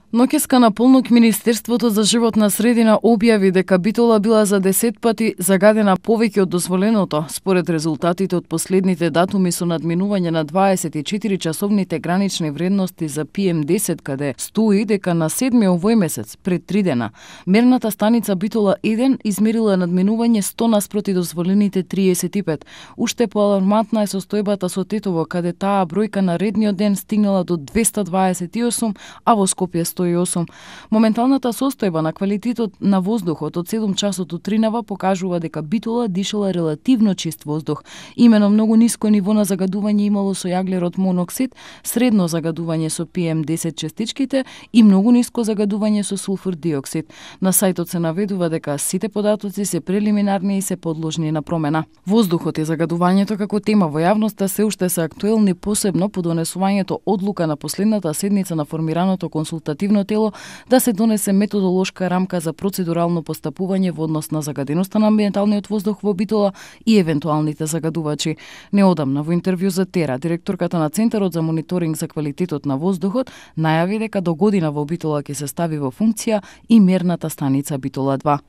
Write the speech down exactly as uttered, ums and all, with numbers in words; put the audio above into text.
Ноќеска на полнок Министерството за животна средина објави дека Битола била за десет пати загадена повеќе од дозволеното, според резултатите од последните датуми со надминување на дваесет и четири часовните гранични вредности за Пи Ем десет, каде стои дека на седми овој месец, пред три дена, мерната станица Битола еден измерила надминување сто наспроти дозволените триесет и пет. Уште поалармантна е состојбата со Тетово, каде таа бројка на редниот ден стигнала до двеста дваесет и осум, а во Скопје сто и осум. Моменталната состојба на квалитетот на воздухот од седум часот утринава покажува дека Битола дишала релативно чист воздух. Имено многу ниско ниво на загадување имало со јаглерод моноксид, средно загадување со Пи Ем десет честичките и многу ниско загадување со сулфур диоксид. На сајтот се наведува дека сите податоци се прелиминарни и се подложни на промена. Воздухот и загадувањето како тема во јавноста се уште се актуелни, посебно по донесувањето одлука на последната седница на формираното консултативно тело да се донесе методолошка рамка за процедурално постапување во однос на загаденоста на амбиенталниот воздух во Битола и евентуалните загадувачи. Неодамна во интервју за Тера, директорката на Центарот за мониторинг за квалитетот на воздухот најави дека до година во Битола ќе се стави во функција и мерната станица Битола два.